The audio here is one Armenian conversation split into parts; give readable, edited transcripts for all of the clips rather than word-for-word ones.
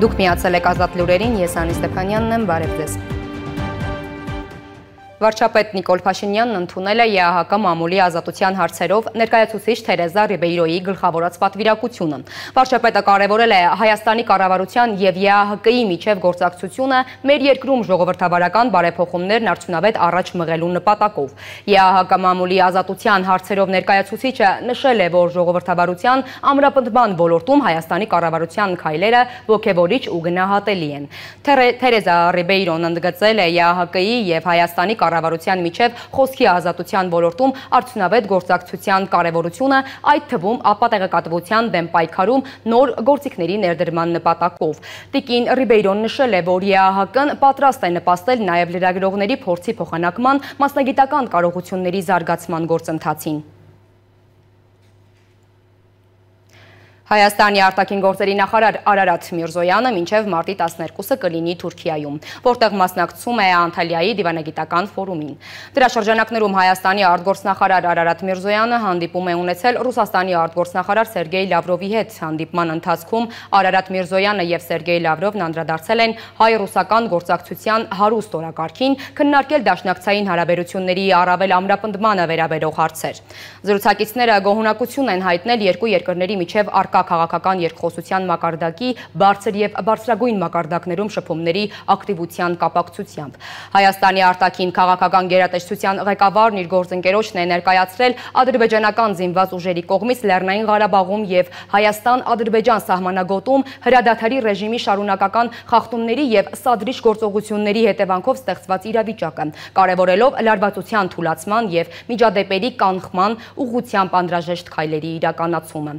Դուք միացել եք Ազատ լուրերին, ես Անի Ստեփանյանն եմ, բարև ձեզ։ Վարչապետ Նիկոլ Փաշինյանն ընդունել է ԵԱՀԿ մամուլի ազատության հարցերով ներկայացուցիչ Թերեզա Ռիբեյրոյի գլխավորած պատվիրակությունը։ Վարչապետը կարևորել է Հայաստանի կառավարության եւ ԵԱՀԿ-ի միջև գործակցությունը մեր երկրում ժողովրդավարական բարեփոխումներն արդյունավետ առաջ մղելու նպատակով։ ԵԱՀԿ մամուլի ազատության հարցերով ներկայացուցիչը նշել է, որ ժողովրդավարության ամրապնդման ոլորտում Հայաստանի կառավարության քայլերը ոգևորիչ ու գնահատելի են։ Թերեզա Ռիբեյրոն ընդգծել է ԵԱՀԿ-ի եւ Հայաստանի կառավարության միջև խոսքի ազատության ոլորտում արդյունավետ գործակցության կարևորությունը, այդ թվում ապատեղեկատվության դեմ պայքարում նոր գործիքների ներդրման նպատակով։ Տիկին Ռիբեյրոն նշել է, որ ԵԱՀԿ-ն պատրաստ է նպաստել նաև լրագրողների փորձի փոխանակման, մասնագիտական կարողությունների զարգացման գործընթացին։ Հայաստանի արտաքին գործերի նախարար Արարատ Միրզոյանը մինչև մարտի 12-ը կլինի Թուրքիայում, որտեղ մասնակցում է Անտալիայի դիվանագիտական ֆորումին։ Դրա շրջանակներում Հայաստանի արտգործնախարար Արարատ Միրզոյանը հանդիպում է ունեցել Ռուսաստանի արտգործնախարար Սերգեյ Լավրովի հետ։ Հանդիպման ընթացքում Արարատ Միրզոյանը եւ Սերգեյ Լավրովն անդրադարձել են հայ-ռուսական գործակցության հարուստ օրակարգին, քննարկել դաշնակցային հարաբերությունների առավել ամրապնդմանը վերաբերող հարցեր։ Զրուցակիցները գոհունակություն են հայտնել երկու երկրների միջև քաղաքական երկխոսության մակարդակի բարձր եւ բարձրագույն մակարդակներում շփումների ակտիվության կապակցությամբ։ Հայաստանի արտաքին քաղաքական գերատեսչության ղեկավարն իր գործընկերոջն է ներկայացրել ադրբեջանական զինված ուժերի կողմից Լեռնային Ղարաբաղում եւ Հայաստան-Ադրբեջան սահմանագոտում հրադադարի ռեժիմի շարունակական խախտումների եւ սադրիչ գործողությունների հետևանքով ստեղծված իրավիճակը, կարևորելով լարվածության թուլացման եւ միջադեպերի կանխման ուղղությամբ անհրաժեշտ քայլերի իրականացումը։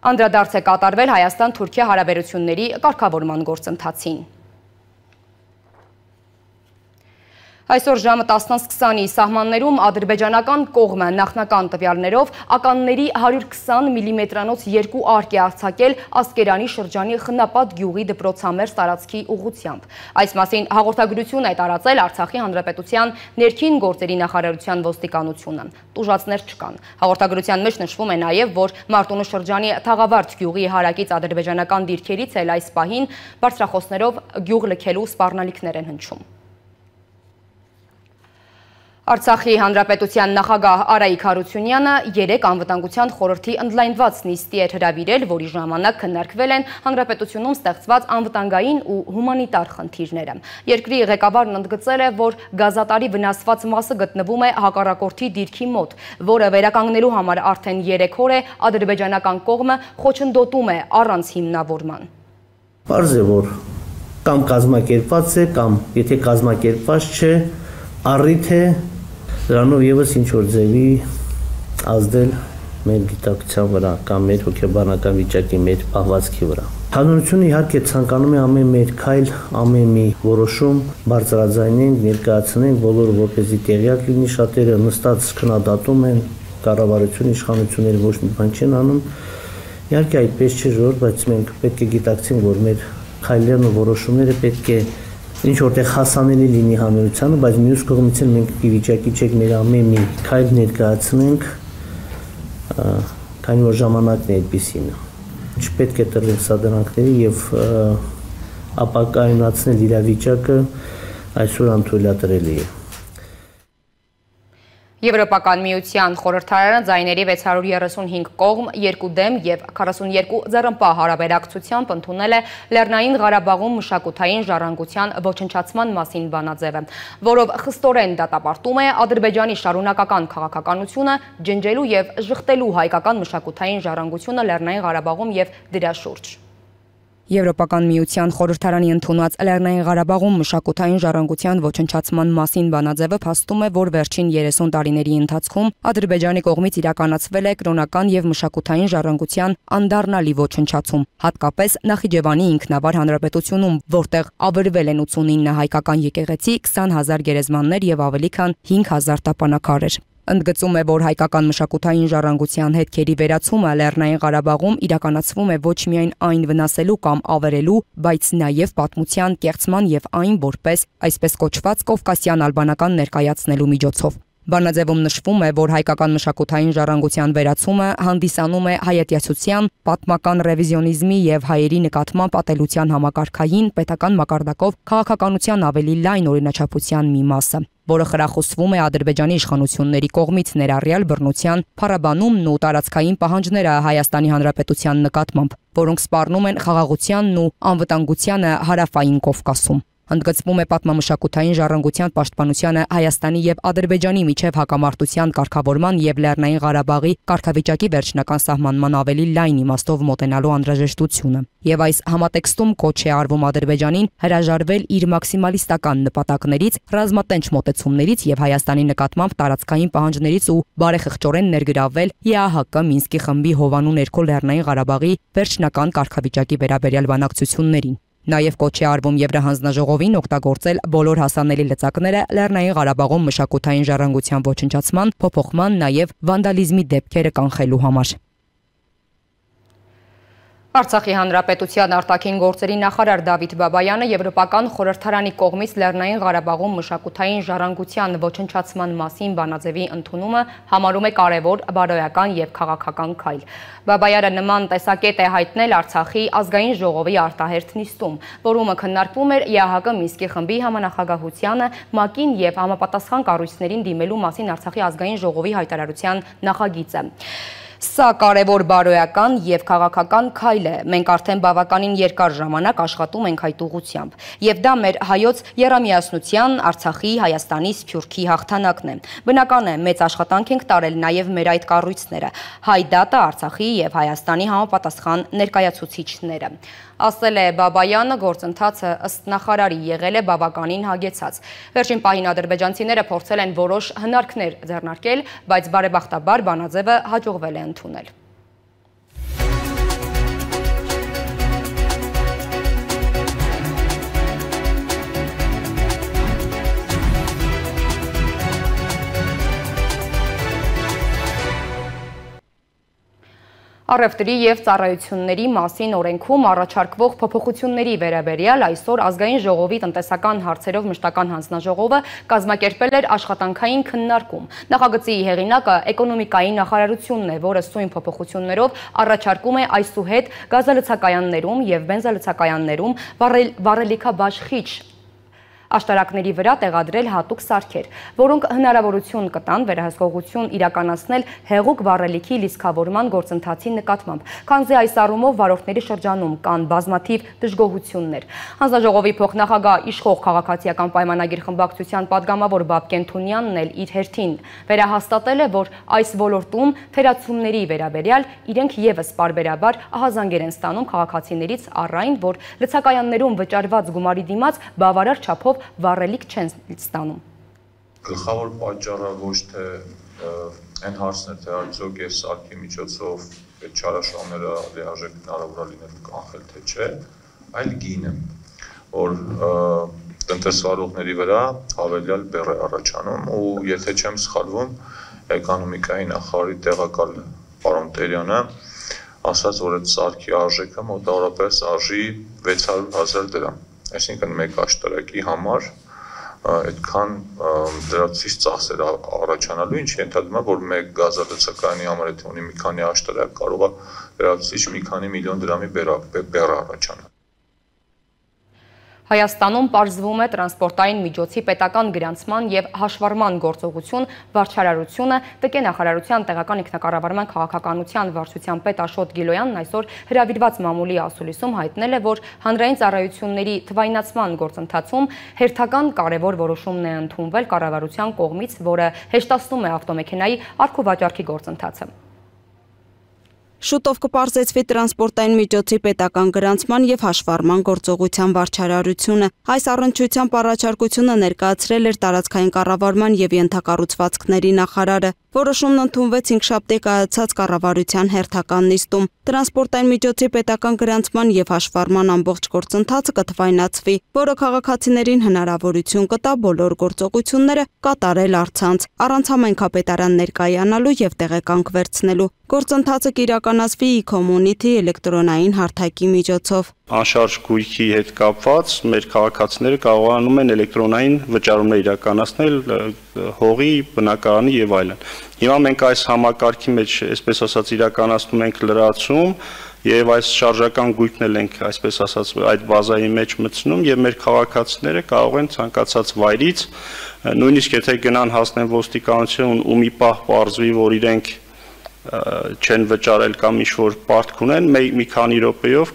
Անդրադարձ է կատարվել Հայաստան-Թուրքիա հարաբերությունների կարգավորման գործընթացին։ Այսօր ժամը 10:20-ի սահմաններում ադրբեջանական կողմը նախնական տվյալներով ականների 120 մմ-անոց 2 արկ է արձակել Ասկերանի շրջանի Խնապատ գյուղի դպրոցամերձ տարածքի ուղղությամբ։ Այս մասին հաղորդագրություն է տարածել Արցախի Հանրապետության ներքին գործերի նախարարության ոստիկանությունը։ Տուժածներ չկան։ Հաղորդագրության մեջ նշվում է նաև, որ Մարտունու շրջանի Թաղավարտ գյուղի հարակից ադրբեջանական դիրքերից էլ այս պահին բարձրախոսներով գյուղ լքելու սպառնալիքներ են հնչում։ Արցախի Հանրապետության նախագահ Արայիկ Հարությունյանը երեկ անվտանգության խորհրդի ընդլայնված նիստի էր հրավիրել, որի ժամանակ քննարկվել են հանրապետությունում ստեղծված անվտանգային ու հումանիտար խնդիրները։ Երկրի ղեկավարն ընդգծել է, որ գազատարի վնասված մասը գտնվում է հակառակորդի դիրքի մոտ, որը վերականգնելու համար արդեն 3 օր է ադրբեջանական կողմը խոչընդոտում է առանց հիմնավորման։ Պարզ է, որ կամ կազմակերպված է, կամ եթե կազմակերպված չէ, առիթ է դրանով եւս ինչ որ ձևի ազդել մեր գիտակցության վրա կամ մեր հոգեբանական վիճակի, մեր պահվածքի վրա։ Հանրությունը իհարկե ցանկանում է ամեն մեր քայլ, ամեն մի որոշում բարձրաձայնենք, ներկայացնենք, բոլորը որպեսզի տեղյակ լինի, շատերը նստած քննադատում են, կառավարություն, իշխանությունները ոչ մի բան չեն անում։ Իհարկե այդպես չէ ժողովուրդ, բայց մենք պետք է գիտակցենք, որ մեր քայլերն ու որոշումները պետք է ինչ որտեղ հասանելի լինի հանրությանը, բայց մյուս կողմից էլ մենք վիճակի չենք մեր ամեն մի քայլ ներկայացնենք, քանի որ ժամանակն է այդպիսին։ Չպետք է տրվել սադրանքների եւ ապակայունացնել իրավիճակը այսօր անթույլատրելի է։ Եվրոպական միության խորհրդարանը ձայների 635 կողմ, 2 դեմ եւ 42 ձեռնպահ հարաբերակցությամբ ընդունել է Լեռնային Ղարաբաղում մշակութային ժառանգության ոչնչացման մասին բանաձևը, որով խստորեն դատապարտում է Ադրբեջանի շարունակական քաղաքականությունը ջնջելու եւ ժխտելու հայկական մշակութային ժառանգությունը Լեռնային Ղարաբաղում եւ դրա շուրջ։ Եվրոպական միության խորհրդարանի ընդունած Լեռնային Ղարաբաղում մշակութային ժառանգության ոչնչացման մասին բանաձևը փաստում է, որ վերջին 30 տարիների ընթացքում Ադրբեջանի կողմից իրականացվել է կրոնական եւ մշակութային ժառանգության անդառնալի ոչնչացում, հատկապես Նախիջևանի ինքնավար հանրապետությունում, որտեղ ավերվել են 89 հայկական եկեղեցի, 20,000 գերեզմաններ եւ ավելի քան 5,000 տապանակարեր։ Ընդգծում է, որ հայկական մշակութային ժառանգության հետքերի վերացումը Լեռնային Ղարաբաղում իրականացվում է ոչ միայն այն վնասելու կամ ավերելու, բայց նաև պատմության կեղծման եւ այն որպես այսպես կոչված կովկասյան ալբանական ներկայացնելու միջոցով։ Բանաձևում նշվում է, որ հայկական մշակութային ժառանգության վերացումը հանդիսանում է հայատյացության, պատմական ռևիզիոնիզմի եւ հայերի նկատմամբ ատելության համակարգային պետական մակարդակով քաղաքականության ավելի լայն օրինաչափության մի մասը, որը խրախուսվում է Ադրբեջանի իշխանությունների կողմից ներառյալ բռնության, փառաբանումն ու տարածքային պահանջները Հայաստանի Հանրապետության նկատմամբ, որոնք սպառնում են խաղաղությանն ու անվտանգությանը Հարավային Կովկասում։ Ընդգծվում է պատմամշակութային ժառանգության պաշտպանությանը Հայաստանի եւ Ադրբեջանի միջև հակամարտության կարգավորման եւ Լեռնային Ղարաբաղի կարգավիճակի վերջնական սահմանման ավելի լայն իմաստով մոտենալու անհրաժեշտությունը։ Եվ այս համատեքստում կոչ է արվում Ադրբեջանին հրաժարվել իր մաքսիմալիստական նպատակներից, ռազմատենչ մոտեցումներից եւ Հայաստանի նկատմամբ տարածքային պահանջներից ու բարեխղճորեն ներգրավվել ԵԱՀԿ Մինսկի խմբի հովանու ներքո Լեռնային Ղարաբաղի վերջնական կարգավիճակի վերաբերյալ բանակցություններին։ Նաև կոչ է արվում Եվրահանձնաժողովին օգտագործել բոլոր հասանելի լծակները Լեռնային Ղարաբաղում մշակութային ժառանգության ոչնչացման, փոփոխման, նաև վանդալիզմի դեպքերը կանխելու համար։ Արցախի Հանրապետության արտաքին գործերի նախարար Դավիթ Բաբայանը Եվրոպական խորհրդարանի կողմից Լեռնային Ղարաբաղում մշակութային ժառանգության ոչնչացման մասին բանաձևի ընդունումը համարում է կարևոր, բարոյական եւ քաղաքական քայլ։ Բաբայանը նման տեսակետ է հայտնել Արցախի ազգային ժողովի արտահերթ նիստում, որում քննարկվում էր ԵԱՀԿ Մինսկի խմբի համանախագահությանը, ՄԱԿ-ին եւ համապատասխան կառույցներին դիմելու մասին Արցախի ազգային ժողովի հայտարարության նախագիծը։ Սա կարևոր բարոյական եւ քաղաքական քայլ է։ Մենք արդեն բավականին երկար ժամանակ աշխատում ենք այդ ուղղությամբ։ Եվ դա մեր հայոց եռամիասնության, Արցախի, Հայաստանի, Սփյուռքի հաղթանակն է։ Բնական է, մեծ աշխատանք ենք տարել նաեւ մեր այդ կառույցները, Հայ դատը, Արցախի եւ Հայաստանի համապատասխան ներկայացուցիչները։ Ասել է Բաբայանը, գործընթացը ըստ նախարարի եղել է բավականին հագեցած։ Վերջին պահին ադրբեջանցիները փորձել են որոշ հնարքներ ձեռնարկել, բայց բարեբախտաբար բանաձևը հաջողվել է ընդունել։ Առևտրի եւ ծառայությունների մասին օրենքում առաջարկվող փոփոխությունների վերաբերյալ այսօր ազգային ժողովի տնտեսական հարցերով մշտական հանձնաժողովը կազմակերպել էր աշխատանքային քննարկում։ Նախագծի հեղինակը էկոնոմիկայի նախարարությունն է, որը սույն փոփոխություններով առաջարկում է այսուհետ գազալցակայաններում եւ բենզալցակայաններում վառելիքաբաշխիչ աշտարակների վրա տեղադրել հատուկ սարքեր, որոնք հնարավորություն կտան վերահսկողություն իրականացնել հեղուկ վառելիքի լիցքավորման գործընթացի նկատմամբ, քանզի այս առումով վարորդների շրջանում կան բազմաթիվ դժգոհություններ։ Հանձնաժողովի փոխնախագահ իշխող քաղաքացիական պայմանագիր խմբակցության падգամավոր Բաբկեն Թունյանն էլ իր հերթին վերահաստատել է, որ այս ոլորտում թերացումների վերաբերյալ իրենք եւս պարբերաբար ահազանգեր են ստանում քաղաքացիներից առ այն, որ լցակայաններում վճարված գումարի դիմաց բավարար չափով վառելիք չեն ստանում։ Գլխավոր պատճառը ոչ թե այն հարցն է, թե արդյոք այս սարքի միջոցով այդ չարաշահումները լիարժեք հնարավոր լինել կանխել թե չէ, այլ գինը, որ տնտեսվարողների վրա հավելյալ բեռ է առաջանում ու եթե չեմ սխալվում, էկոնոմիկայի նախարարի տեղակալ պարոն Տերյանը ասաց, որ այդ սարքի արժեքը մոտավորապես արժի 600,000 դրամ։ Այսինքն մեկ աշտարակի համար այդքան դրացից ծախսեր առաջանալու, ինչ ենթադրում է, որ մեկ գազալցակայանի համար եթե ունի մի քանի աշտարակ, կարող է դրացից մի քանի միլիոն դրամի բեռ առաջանալ։ Հայաստանում պարզվում է տրանսպորտային միջոցի պետական գրանցման եւ հաշվառման գործողություն վարչարարությունը ՏԿ նախարարության տեղական ինքնակառավարման քաղաքականության վարչության պետ Աշոտ Գիլոյանն այսօր հրավիրված մամուլի ասուլիսում հայտնել է, որ հանրային ծառայությունների թվայնացման գործընթացում հերթական կարևոր որոշումն է ընդունվել կառավարության կողմից, որը հեշտացնում է ավտոմեքենայի առքուվաճառքի գործընթացը։ Շուտով կպարզեցվի տրանսպորտային միջոցի պետական գրանցման եւ հաշվառման գործողության վարչարարությունը։ Այս առնչությամբ առաջարկությունը ներկայացրել էր տարածքային կառավարման եւ ենթակառուցվածքների նախարարը։ Որոշումն ընդունվեց հինգշաբթի կայացած կառավարության հերթական նիստում։ Տրանսպորտային միջոցի պետական գրանցման եւ հաշվառման ամբողջ գործընթացը կթվայնացվի, որը քաղաքացիներին հնարավորություն կտա բոլոր գործողությունները կատարել առցանց, առանց համայնքապետարան ներկայանալու եւ տեղեկանք վերցնելու։ Գործընթացը կիրականացվի e-community էլեկտրոնային հարթակի միջոցով։ Անշարժ գույքի հետ կապված մեր քաղաքացիները կարողանում են էլեկտրոնային վճարումներ իրականացնել հողի, բնակարանի եւ այլն։ Հիմա մենք այս համակարգի մեջ, այսպես ասած, իրականացնում ենք լրացում եւ այս շարժական գույքն էլ ենք, այսպես ասած, այդ բազայի մեջ մտցնում եւ մեր քաղաքացիները կարող են ցանկացած վայրից, նույնիսկ եթե գնան հասնեն ոստիկանություն ու մի պահ պարզվի, որ իրենք չեն վճարել կամ ինչ-որ պարտք ունեն, մի քանի րոպեում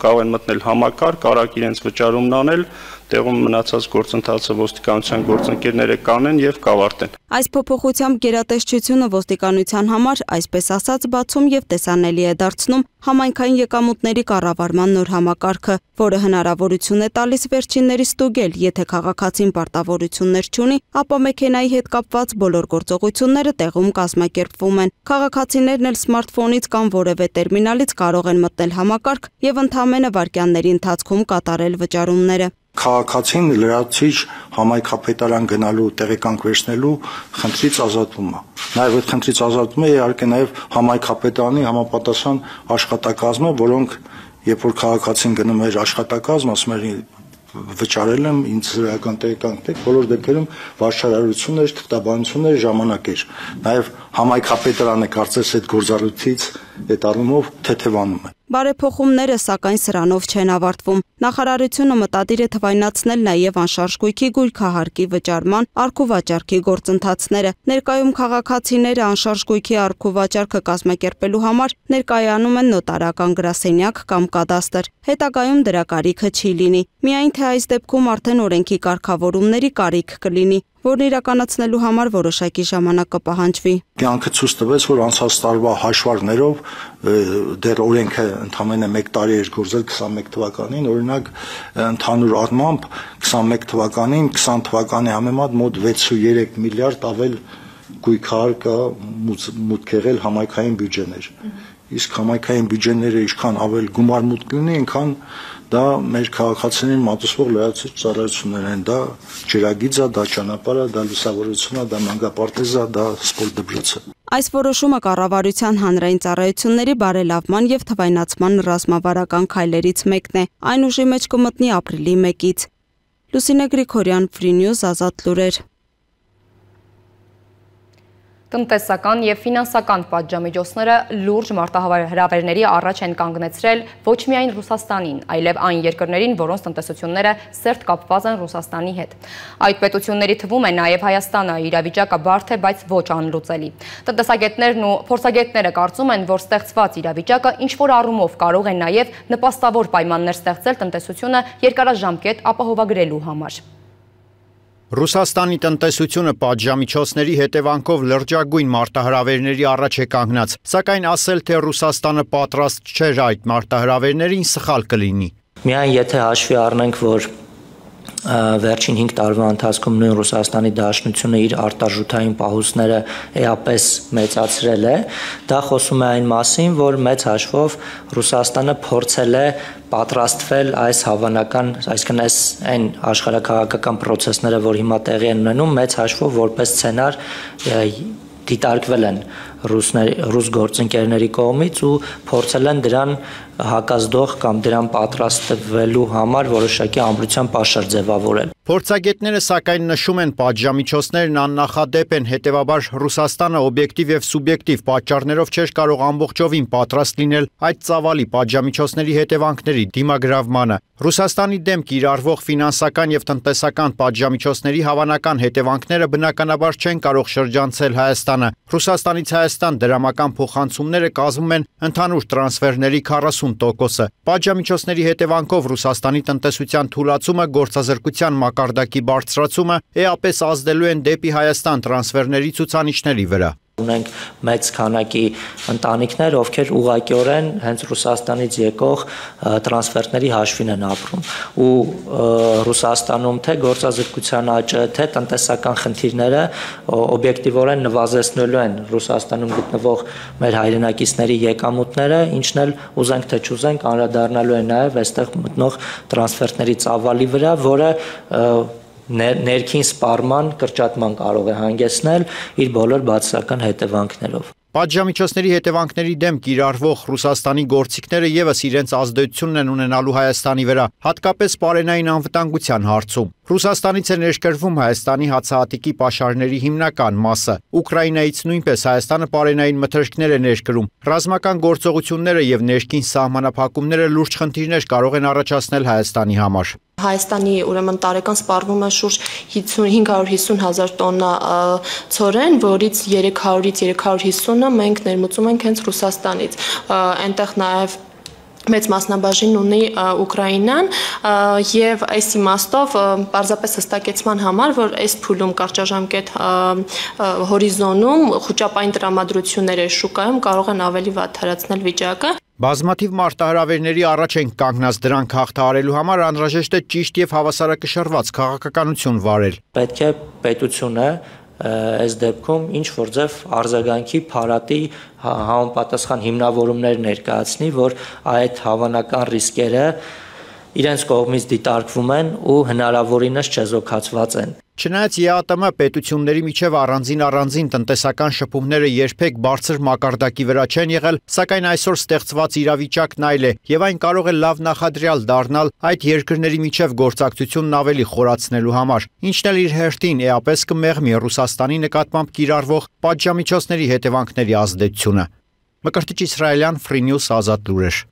կարող են մտնել համակարգ, արագ իրենց վճարումն անել, տեղում մնացած գործընթացը ոստիկանության գործընկերները կանեն եւ կավարտեն։ Այս փոփոխությամբ գերատեսչությունը ոստիկանության համար, այսպես ասած, բացում եւ տեսանելի է դարձնում համայնքային եկամուտների կառավարման նոր համակարգը, որը հնարավորություն է տալիս վերջինների ստուգել, եթե քաղաքացին պարտավորություններ չունի, ապա մեքենայի հետ կապված բոլոր գործողությունները տեղում կազմակերպվում են։ Քաղաքացիներն էլ սմարթֆոնից կամ որևէ տերմինալից կարող են մտնել համակարգ եւ ընդամենը վայրկյանների ընթացքում կատարել վճարումները։ Քաղաքացին լրացիչ համայնքապետարան գնալու տեղեկանք վերցնելու խնդրից ազատվում է։ Նաև այդ խնդրից ազատվում է իհարկե նաև համայնքապետարանի համապատասխան աշխատակազմը, որոնք երբ որ քաղաքացին գնում էր աշխատակազմ, ասում էր վճարել եմ ինձ հրական տեղեկանք, բոլոր դեպքերում վարչարարություններ, թղթաբանություններ ժամանակ էր։ Նաև համայնքապետարանը կարծես այդ գործառույթից այդ առումով թեթևանում է։ Բարեփոխումները, սակայն, սրանով չեն ավարտվում։ Նախարարությունը մտադիր է թվայնացնել նաև անշարժ գույքի գույքահարկի վճարման առքուվաճառքի գործընթացները։ Ներկայում քաղաքացիները անշարժ գույքի առքուվաճառքը կազմակերպելու համար ներկայանում են նոտարական գրասենյակ կամ կադաստր։ Հետագայում դրա կարիքը չի լինի։ Միայն թե այս դեպքում արդեն օրենքի կարգավորումների կարիք կլինի, որն իրականացնելու համար որոշակի ժամանակ կպահանջվի։ Կյանքը ցույց տվեց, որ անցած տարվա հաշվարկներով դեռ օրենքը ընդամենը 1 տարի էր գործել 21 թվականին, օրինակ ընդհանուր առմամբ 21 թվականին 20 թվականի համեմատ մոտ 6.3 միլիարդ ավել գույքահար կա մուտք եղել համայնքային բյուջեներ։ Իսկ համայնքային բյուջեները ինչքան ավել գումար մուտք ունի, այնքան դա մեր քաղաքացիներին մատուցվող լրացիչ ծառայություններ են, դա ջրագիծը, դա ճանապարհը, դա լուսավորությունը, դա մանկապարտեզը, դա սպորտ դպրոցը։ Այս որոշումը կառավարության հանրային ծառայությունների բարելավման եւ թվայնացման ռազմավարական քայլերից մեկն է։ Այն ուժի մեջ կմտնի ապրիլի 1-ից։ Լուսինե Գրիգորյան, Free News, Ազատ լուրեր։ Տնտեսական եւ ֆինանսական պատժամիջոցները լուրջ մարտահրավերների առաջ են կանգնեցրել ոչ միայն Ռուսաստանին, այլև այն երկրներին, որոնց տնտեսությունները սերտ կապված են Ռուսաստանի հետ։ Այդ պետությունների թվում է նաեւ Հայաստանը, իրավիճակը բարդ է, բայց ոչ անլուծելի։ Տնտեսագետներն ու փորձագետները կարծում են, որ ստեղծված իրավիճակը ինչ-որ առումով կարող է նաեւ նպաստավոր պայմաններ ստեղծել տնտեսությունը երկարաժամկետ ապահովագրելու համար։ Ռուսաստանի տնտեսությունը պատժամիջոցների հետևանքով լրջագույն մարտահրավերների առաջ է կանգնած, սակայն ասել, թե Ռուսաստանը պատրաստ չէր այդ մարտահրավերներին սխալ կլինի։ Միայն եթե հաշվի առնենք, որ վերջին 5 տարվա ընթացքում նույն Ռուսաստանի Դաշնությունը իր արտարժութային պահուստները էապես մեծացրել է, դա խոսում է այն մասին, որ մեծ հաշվով Ռուսաստանը փորձել է պատրաստվել այս հավանական, այսինքն այն աշխարհաքաղաքական process-ները, որ հիմա տեղի են ունենում, մեծ հաշվով որպես սցենար դիտարկվել են ռուս գործընկերների կողմից ու փորձել են դրան հակազդող կամ դրան պատրաստվելու համար որոշակի ամրության պաշար ձևավորել։ Փորձագետները սակայն նշում են պատժամիջոցներն աննախադեպ են, հետևաբար Ռուսաստանը օբյեկտիվ եւ սուբյեկտիվ պատճառներով չէր կարող ամբողջովին պատրաստ լինել այդ ծավալի պատժամիջոցների հետևանքների դիմագրավմանը։ Ռուսաստանի դեմ կիրառվող ֆինանսական եւ տնտեսական պատժամիջոցների հավանական հետևանքները բնականաբար չեն կարող շրջանցել Հայաստանը։ Ռուսաստանից Հայաստան դրամական փոխանցումները կազմում են ընդհանուր տրանսֆերների 40%-ը։ Պատժամիջոցների հետևանքով Ռուսաստանի տնտեսության թուլացումը, գործազրկության մակարդակի բարձրացումը էապես ազդելու են դեպի Հայաստան տրանսֆերների ցուցանիշների վրա։ ունենք մեծ քանակի ընտանիքներ, ովքեր ուղղակիորեն հենց Ռուսաստանից եկող տրանսֆերտների հաշվին են ապրում ու Ռուսաստանում թե գործազրկության աճը, թե տնտեսական խնդիրները օբյեկտիվորեն նվազեցնելու են Ռուսաստանում գտնվող մեր հայրենակիցների եկամուտները, ինչն էլ ուզենք թե չուզենք անդրադառնալու է նաև այստեղ մտնող տրանսֆերտների ծավալի վրա, որը ներքին սպառման, կրճատման կարող է հանգեցնել իր բոլոր բացասական հետևանքներով։ Պատժամիջոցների հետևանքների դեմ կիրառվող Ռուսաստանի գործիքները ևս իրենց ազդեցությունն են ունենալու Հայաստանի վրա, հատկապես պարենային անվտանգության հարցում։ Ռուսաստանից է ներկրվում Հայաստանի հացահատիկի պաշարների հիմնական մասը։ Ուկրաինայից նույնպես Հայաստանը պարենային մթերքներ է ներկրում։ Ռազմական գործողությունները եւ ներքին սահմանափակումները լուրջ խնդիրներ կարող են առաջացնել Հայաստանի համար։ Հայաստանի ուրեմն տարեկան սպառվում է շուրջ 550,000 տոննա ցորեն, որից 300-ից 350-ը մենք ներմուծում ենք հենց Ռուսաստանից։ Այնտեղ նաև մեծ մասնաբաժին ունի Ուկրաինան եւ այս իմաստով պարզապես հստակեցման համար, որ այս փուլում կարճաժամկետ հորիզոնում խոճապային տրամադրությունները շուկայում կարող են ավելի վատթարացնել վիճակը։ Բազմաթիվ մարտահրավերների առաջ են կանգնած դրանք հաղթահարելու համար անհրաժեշտ է ճիշտ եւ հավասարակշռված քաղաքականություն վարել։ Պետք է պետությունը այս դեպքում ինչ որ ձև արձագանքի փարատի համապատասխան հիմնավորումներ ներկայացնի, որ այդ հավանական ռիսկերը իրենց կողմից դիտարկվում են ու հնարավորինս չեզոքացված են։ Չնայած ԵԱՏՄ պետությունների միջև առանձին տնտեսական շփումները երբեք բարձր մակարդակի վրա չեն եղել, սակայն այսօր ստեղծված իրավիճակն այլ է եւ այն կարող է լավ նախադրյալ դառնալ այդ երկրների միջև գործակցությունն ավելի խորացնելու համար, ինչն էլ իր հերթին էապես կմեղմի Ռուսաստանի նկատմամբ կիրառվող պատժամիջոցների հետևանքների ազդեցությունը։ Մկրտիչ Իսրայելյան, Free News, Ազատ լուրեր։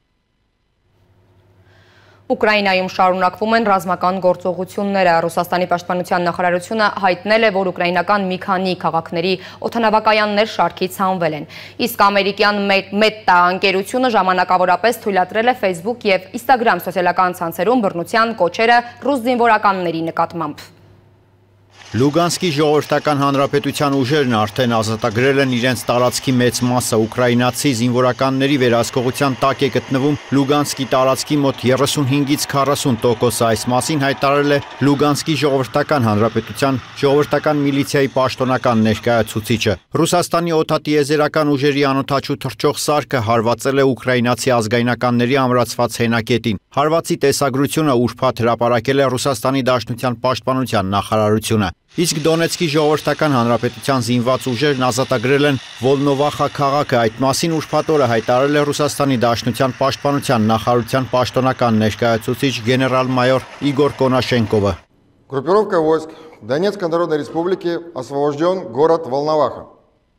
Ուկրաինայում շարունակվում են ռազմական գործողությունները։ Ռուսաստանի պաշտպանության նախարարությունը հայտնել է, որ ուկրաինական մի քանի քաղաքների օդանավակայաններ շարքից հանվել են։ Իսկ ամերիկյան Meta ընկերությունը ժամանակավորապես թույլատրել է Facebook եւ Instagram սոցիալական ցանցերում բռնության կոչերը ռուս զինվորականների նկատմամբ։ Լուգանսկի ժողովրդական հանրապետության ուժերն արդեն ազատագրել են իրենց տարածքի մեծ մասը, ուկրաինացի զինվորականների վերահսկողության տակ է գտնվում Լուգանսկի տարածքի մոտ 35-ից 40%-ը, այս մասին հայտարարել է Լուգանսկի ժողովրդական հանրապետության ժողովրդական միլիցիայի պաշտոնական ներկայացուցիչը։ Ռուսաստանի օդատիեզերական ուժերի անօդաչու թռչող սարքը հարվածել է ուկրաինացի ազգայնականների ամրացված հենակետին։ Հարվածի տեսագրությունը ուրբաթ հրապարակել է Ռուսաստանի Դաշնության պաշտպանության նախարարությունը։ Իսկ Դոնեցկի ժողովրդական հանրապետության զինված ուժերն ազատագրել են Վոլնովախա քաղաքը, այդ մասին ուրբաթ օրը հայտարարել է Ռուսաստանի Դաշնության պաշտպանության նախարարության պաշտոնական ներկայացուցիչ գեներալ-մայոր Իգոր Կոնաշենկովը։ Группировка войск Донецкой Народной Республики освобожден город Волноваха.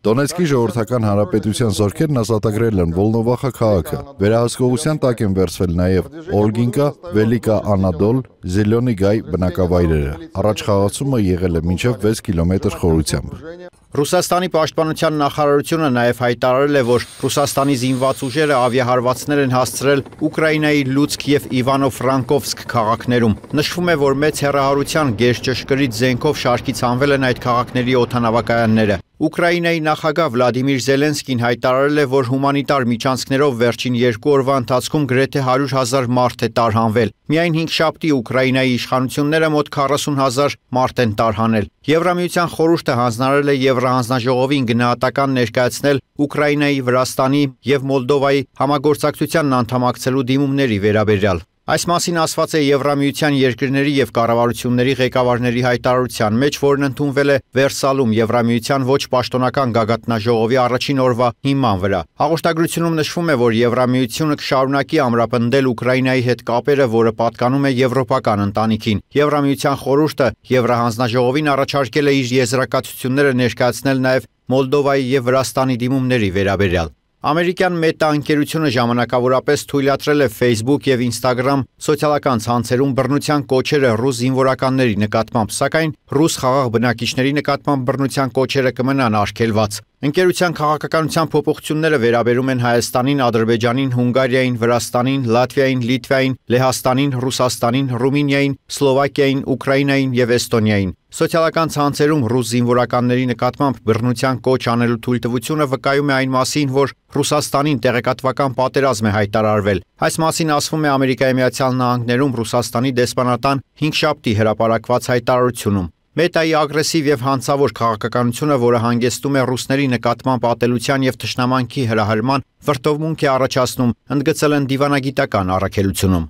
Դոնեցկի ժողովրդական հանրապետության զորքերն ազատագրել են Վոլնովախա քաղաքը։ Վերահսկողության տակ են վերցվել նաև Օլգինկա, Վելիկա Անադոլ, Զելյոնի Գայ բնակավայրերը։ Առաջխաղացումը եղել է մինչև 6 կիլոմետր խորությամբ։ Ռուսաստանի պաշտպանության նախարարությունը նաև հայտարարել է, որ Ռուսաստանի զինված ուժերը ավիահարվածներ են հասցրել Ուկրաինայի Լուցկ եւ Իվանո-Ֆրանկովսկ քաղաքներում։ Նշվում է, որ մեծ հեռահարության գերճշգրիտ զենքով շարքից հանվել են այդ քաղաքների օդանավակայանները։ Ուկրաինայի նախագահ Վլադիմիր Զելենսկին հայտարարել է, որ հումանիտար միջանցքներով վերջին 2 օրվա ընթացքում գրեթե 100,000 մարդ է տարհանվել։ Միայն 5 շաբթի Ուկրաինայի իշխանությունները մոտ 40,000 մարդ են տարհանել։ Եվրամիության խորհուրդը հանձնարարել է Եվրահանձնաժողովին գնահատական ներկայացնել Ուկրաինայի, Վրաստանի եւ Մոլդովայի համագործակցությանն անդամակցելու դիմումների վերաբերյալ։ Այս մասին ասված է Եվրամիության երկրների եւ կառավարությունների ղեկավարների հայտարարության մեջ, որն ընդունվել է Վերսալում Եվրամիության ոչ պաշտոնական գագաթնաժողովի առաջին օրվա հիման վրա։ Հաղորդագրությունում նշվում է, որ Եվրամիությունը կշարունակի ամրապնդել Ուկրաինայի հետ կապերը, որը պատկանում է եվրոպական ընտանիքին։ Եվրամիության խորհուրդը Եվրահանձնաժողովին առաջարկել է իր եզրակացությունները ներկայացնել նաեւ Մոլդովայի եւ Վրաստանի դիմումների վերաբերյալ։ Ամերիկյան Meta ընկերությունը ժամանակավորապես թույլատրել է Facebook եւ Instagram սոցիալական ցանցերում բռնության կոչերը ռուս զինվորականների նկատմամբ, սակայն ռուս խաղաղ բնակիչների նկատմամբ բռնության կոչերը կմնան արգելված։ Ընկերության քաղաքականության փոփոխությունները վերաբերում են Հայաստանին, Ադրբեջանին, Հունգարիային, Վրաստանին, Լատվիային, Լիտվային, Լեհաստանին, Ռուսաստանին, Ռումինիային, Սլովակիային, Ուկրաինային եւ Էստոնիային։ Սոցիալական ցանցերում ռուս զինվորականների նկատմամբ բռնության կոչ անելու թույլտվությունը վկայում է այն մասին, որ Ռուսաստանին տեղեկատվական պատերազմ է հայտարարվել։ Այս մասին ասվում է Ամերիկայի Միացյալ Նահանգներում Ռուսաստանի դեսպանատան 5-շաբթի հրապարակված հայտարարությունում։ Մետայի ագրեսիվ եւ հանցավոր քաղաքականությունը, որը հանգեցնում է ռուսների նկատմամբ ատելության եւ թշնամանքի հրահրման, վրդովմունք է առաջացնում, ընդգծել են դիվանագիտական առաքելությունում։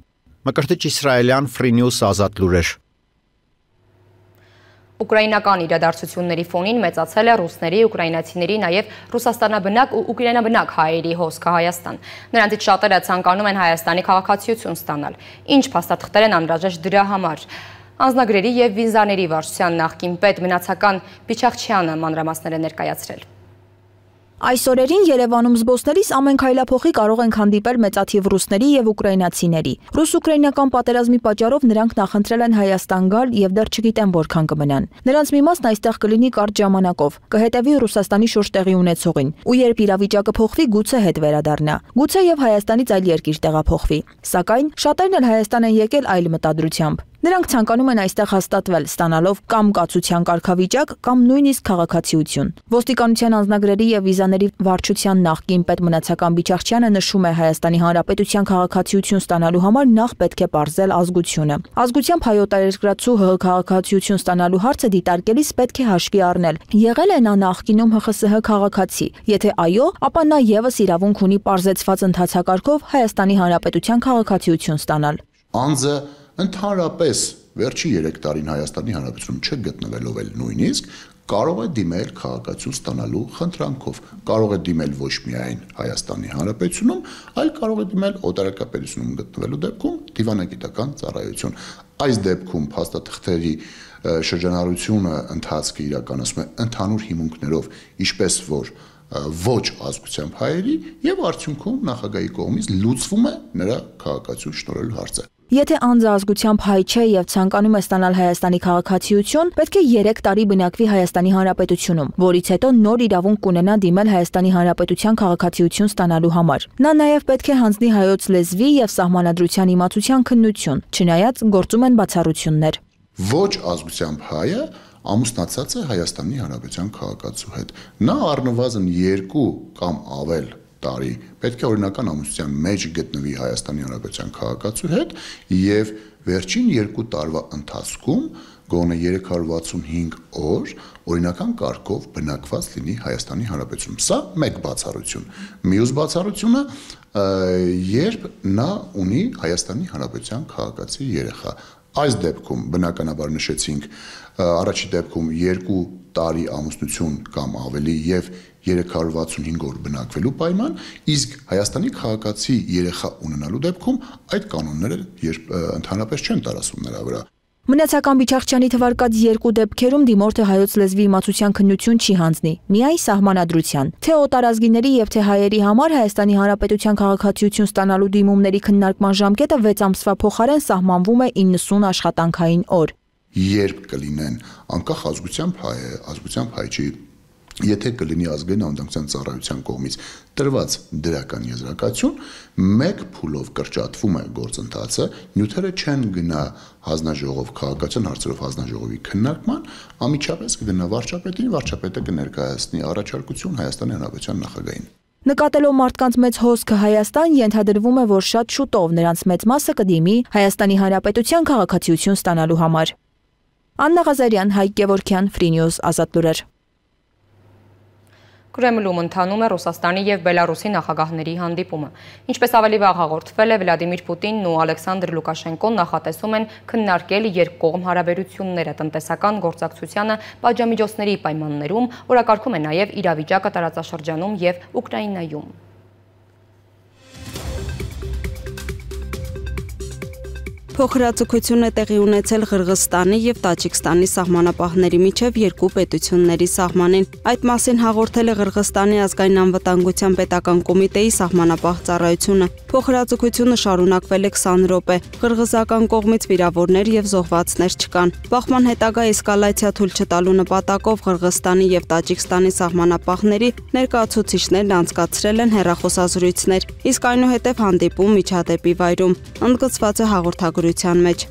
Մկրտիչ իսրայելյան Free News ազատ լուրեր։ Ուկրաինական իրադարձությունների ֆոնին մեծացել է ռուսների, ուկրաինացիների, նաև ռուսաստանաբնակ ու ուկրաինաբնակ հայերի հոսքը Հայաստան։ Նրանցից շատերը ցանկանում են Հայաստանի քաղաքացիություն ստանալ։ Ինչ փաստաթղթեր են անհրաժեշտ դրա համար։ Անձնագրերի եւ վիզաների վարչության նախկին պետ Մնացական Բիչախչյանը մանրամասներ է ներկայացրել։ Այս օրերին Երևանում զբոսնելիս ամեն քայլափոխի կարող ենք հանդիպել մեծաթիվ ռուսների եւ ուկրաինացիների։ Ռուս-ուկրաինական պատերազմի պատճառով նրանք նախընտրել են Հայաստան գալ եւ դեռ չգիտեն որքան կմնան։ Նրանց մի մասն այստեղ կլինի կարճ ժամանակով, կհետևի Ռուսաստանի շուրջ տեղի ունեցողին, ու երբ իրավիճակը փոխվի, գուցե հետ վերադառնա։ Գուցե եւ Հայաստանից այլ երկիր տեղափոխվի։ Սակայն շատերն էլ Հայաստան են եկել այլ մտադրությամբ։ Նրանք ցանկանում են այստեղ հաստատվել, ստանալով կամ կացության կարգավիճակ, կամ նույնիսկ քաղաքացիություն։ Ոստիկանության անձնագրերի եւ վիզաների վարչության նախկին պետ Մնացական Բիչախչյանը նշում է Հայաստանի Հանրապետության քաղաքացիություն ստանալու համար նախ պետք է պարզել ազգությունը։ Ազգությամբ հայոց երկրացու ՀՀ քաղաքացիություն ստանալու հարցը դիտարկելիս պետք է հաշվի առնել։ Եղել է նա նախկինում ՀԽՍՀ քաղաքացի։ Եթե այո, ապա նա եւս իրավունք ունի պարզեցված ընթացակարգով Հայաստանի Հանրապետության քաղաքացիություն ստանալ։ Անձը ընդհանրապես վերջի 3 տարին Հայաստանի Հանրապետությունում չգտնվելով էլ նույնիսկ կարող է դիմել քաղաքացիություն ստանալու խնդրանքով, կարող է դիմել ոչ միայն Հայաստանի Հանրապետությունում, այլ կարող է դիմել օտարերկրապետությունում գտնվելու դեպքում դիվանագիտական ծառայություն։ Այս դեպքում փաստաթղթերի շրջանառությունը ընթացքը իրականացում է ընդհանուր հիմունքներով, ինչպես որ ոչ ազգությամբ հայերի եւ արդյունքում նախագահի կողմից լուծվում է նրա քաղաքացիություն շնորհելու հարցը։ Եթե անձը ազգությամբ հայ չէ եւ ցանկանում է ստանալ Հայաստանի քաղաքացիություն, պետք է 3 տարի բնակվի Հայաստանի Հանրապետությունում, որից հետո նոր իրավունք կունենա դիմել Հայաստանի Հանրապետության քաղաքացիություն ստանալու համար։ Նա նաեւ պետք է հանձնի հայոց լեզվի եւ սահմանադրության իմացության քննություն, չնայած գործում են բացառություններ։ Ոչ ազգությամբ հայը ամուսնացած է Հայաստանի Հանրապետության քաղաքացու հետ։ Նա առնվազն 2 կամ ավել տարի պետք է օրինական ամուսնության մեջ գտնվի Հայաստանի Հանրապետության քաղաքացու հետ եւ վերջին 2 տարվա ընթացքում գոնե 365 օր օրինական կարգով բնակված լինի Հայաստանի Հանրապետությունում։ Սա մեկ բացառություն։ Մյուս բացառությունը, երբ նա ունի Հայաստանի Հանրապետության քաղաքացի երեխա։ Այս դեպքում բնականաբար նշեցինք, առաջի դեպքում 2 տարի ամուսնություն կամ ավելի եւ 365 օր բնակվելու պայման, իսկ Հայաստանի քաղաքացի երեխա ունենալու դեպքում այդ կանոնները ընդհանրապես չեն տարածվում նրա վրա։ Մնացական Բիչախչյանի թվարկած 2 դեպքերում դիմորդը հայոց լեզվի իմացության քննություն չի հանձնի, միայն սահմանադրության։ Թե օտարազգիների եւ թե հայերի համար Հայաստանի Հանրապետության քաղաքացիություն ստանալու դիմումների քննարկման ժամկետը 6 ամսվա փոխարեն սահմանվում է 90 աշխատանքային օր։ Երբ կլինեն անկախ ազգությամբ հայ չի, եթե կլինի ազգային անվտանգության ծառայության կողմից տրված դրական եզրակացություն, մեկ փուլով կրճատվում է գործընթացը, նյութերը չեն գնա հանձնաժողով քաղաքացիական հարցերով հանձնաժողովի քննարկման, անմիջապես կգնա վարչապետին, վարչապետը կներկայացնի առաջարկություն Հայաստանի Հանրապետության նախագահին։ Նկատելով մարդկանց մեծ հոսքը Հայաստան, ենթադրվում է, որ շատ շուտով նրանց մեծ մասը կդիմի Հայաստանի Հանրապետության քաղաքացիություն ստանալու համար։ Աննա Ղազարյան, Հայկ Գևորգյան, Free News, ազատ լուրեր։ Կրեմլում ընթանում է Ռուսաստանի եւ Բելարուսի նախագահների հանդիպումը։ Ինչպես ավելի վաղ հաղորդվել է, Վլադիմիր Պուտինն ու Ալեքսանդր Լուկաշենկոն նախատեսում են քննարկել երկկողմ հարաբերությունները, տնտեսական գործակցությանը, պատժամիջոցների պայմաններում, օրակարգում է նաեւ իրավիճակը տարածաշրջանում եւ Ուկրաինայում։ Փոխհրաձգություն է տեղի ունեցել Ղրղստանի եւ Տաջիկստանի սահմանապահների միջև երկու պետությունների սահմանին։ Այդ մասին հաղորդել է Ղրղստանի ազգային անվտանգության պետական կոմիտեի սահմանապահ ծառայությունը։ Փոխհրաձգությունը շարունակվել է 20 րոպե։ Ղրղզական կողմից վիրավորներ եւ զոհվածներ չկան։ Բախման հետագա էսկալացիա թույլ չտալու նպատակով Ղրղստանի եւ Տաջիկստանի սահմանապահների ներկայացուցիչներն անցկացրել են հեռախոսազրույցներ, իսկ այնուհետև հանդիպում միջադեպի վայրում։ Ընդգծված է հաղորդագրության մեջ։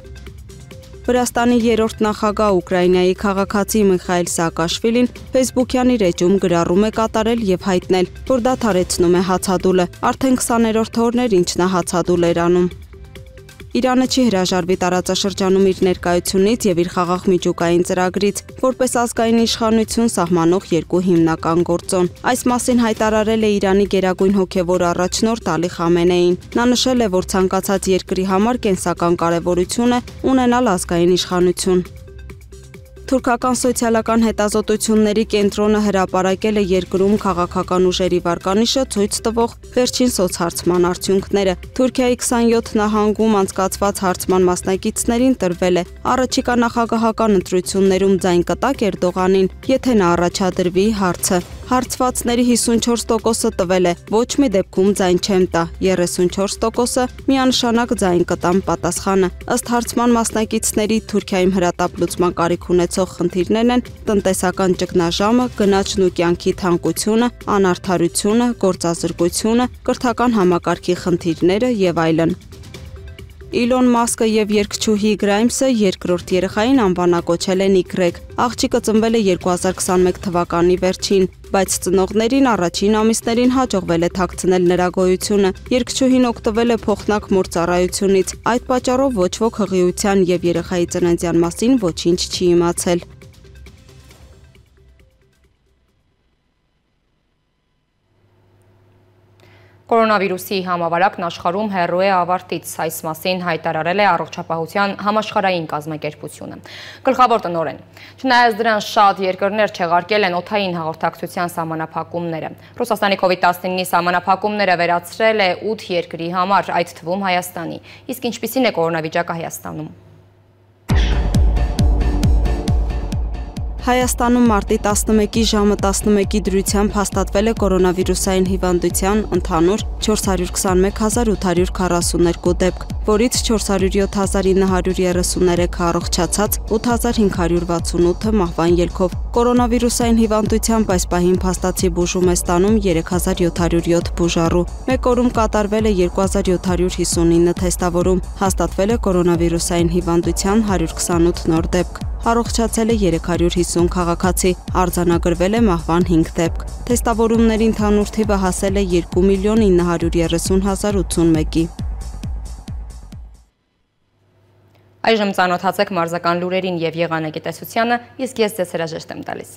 Վրաստանի երրորդ նախագահ Ուկրաինայի քաղաքացի Միխայել Սաակաշվիլին Facebook-յան իր էջում գրառում է կատարել եւ հայտնել, որ դադարեցնում է հացադուլը։ Արդեն 20-րդ օրն էր, ինչ նա հացադուլ էր անում։ Իրանը չի հրաժարվի տարածաշրջանում իր ներկայությունից եւ իր խաղաղ միջուկային ծրագրից, որպես ազգային իշխանություն սահմանող երկու հիմնական գործոն։ Այս մասին հայտարարել է Իրանի գերագույն հոգեվոր առաջնորդ Ալի Խամենեին։ Նա նշել է, որ ցանկացած երկրի համար կենսական կարևորություն է ունենալ ազգային իշխանություն։ Թուրքական սոցիալական հետազոտությունների կենտրոնը հրապարակել է երկրում քաղաքական ուժերի վարկանիշը ցույց տվող վերջին սոցհարցման արդյունքները։ Թուրքիայի 27 նահանգում անցկացված հարցման մասնակիցներին տրվել է առաջիկա նախագահական ընտրություններում ձայն կտակ Էրդողանին, եթե նա առաջադրվի հարցը։ Հարցվածների 54%-ը տվել է ոչ մի դեպքում ձայն չեմ տա, 34%-ը միանշանակ ձայն կտան պատասխանը։ Ըստ հարցման մասնակիցների Թուրքիայում հրատապ լուծման կարիք ունեցող խնդիրներն են տնտեսական ճգնաժամը, գնաճն ու կյանքի թանկությունը, անարդարությունը, գործազրկությունը, կրթական համակարգի խնդիրները եւ այլն։ Իլոն Մասկը եւ երգչուհի Գրայմսը երկրորդ երեխային անվանակոչել են Y. Աղջիկը ծնվել է 2021 թվականի վերջին, բայց ծնողներին առաջին ամիսներին հաջողվել է թաքցնել նրա գոյությունը։ Երգչուհին օգտվել է փոխնակ մոր ծառայությունից։ Այդ պատճառով ոչ ոք հղիության եւ երեխայի ծննդյան մասին ոչինչ չի իմացել։ Կորոնավիրուսի համավարակն աշխարհում հեռու է ավարտից, այս մասին հայտարարել է Առողջապահության համաշխարհային կազմակերպությունը։ Գլխավոր տնօրեն։ Չնայած դրան շատ երկրներ չեղարկել են օդային հաղորդակցության սահմանափակումները։ Ռուսաստանի COVID-19-ի սահմանափակումները վերացրել է 8 երկրի համար, այդ թվում Հայաստանի։ Իսկ ինչպիսին է կորոնավիճակը Հայաստանում։ Հայաստանում մարտի 11-ի ժամը 11-ի դրությամբ հաստատվել է կորոնավիրուսային հիվանդության ընդհանուր 421.842 դեպք, որից 407.933-ը առողջացած, 8.568-ը մահվան ելքով։ Կորոնավիրուսային հիվանդությամբ այս պահին փաստացի բուժում է ստանում 3707 բուժառու։ Մեկ օրում կատարվել է 2759 թեստավորում, հաստատվել է կորոնավիրուսային հիվանդության 128 նոր դեպք։ Առողջացել է 350 քաղաքացի, արձանագրվել է մահվան 5 դեպք։ Թեստավորումների ընդհանուր թիվը հասել է 2.930.081-ի։ Այժմ ծանոթացեք մարզական լուրերին եւ եղանակի տեսությանը, իսկ ես ձեզ հրաժեշտ եմ տալիս։